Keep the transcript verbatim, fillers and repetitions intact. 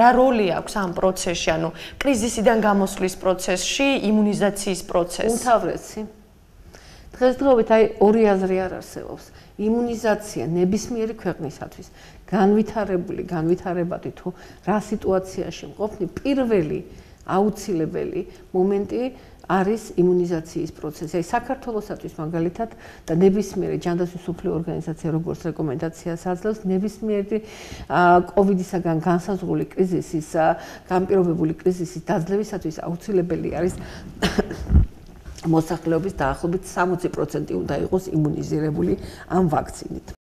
რა როლი აქვს ამ პროცესში, ანუ კრიზისიდან გამოსვლის პროცესში, იმუნიზაციის პროცესში? უმთავრესი. დღესდღეობით აი ორი აზრი არ არსებობს. იმუნიზაცია ნებისმიერი ქვეყნისათვის განვითარებული, განვითარებადი თუ რა სიტუაციაში მყოფნი, პირველი აუცილებელი მომენტი არის იმუნიზაციის პროცესი. აი საქართველოსათვის მაგალითად და ნებისმიერი ჯანდაცვის მსოფლიო ორგანიზაცია როგორც რეკომენდაციას აძლევს, ნებისმიერი კოვიდისაგან განსაზღვრული კრიზისის, განპირობებული კრიზისის დაძლევისათვის აუცილებელი არის მოსახლეობის დაახლოებით სამოცი პროცენტი უნდა იყოს იმუნიზირებული ამ ვაქცინით.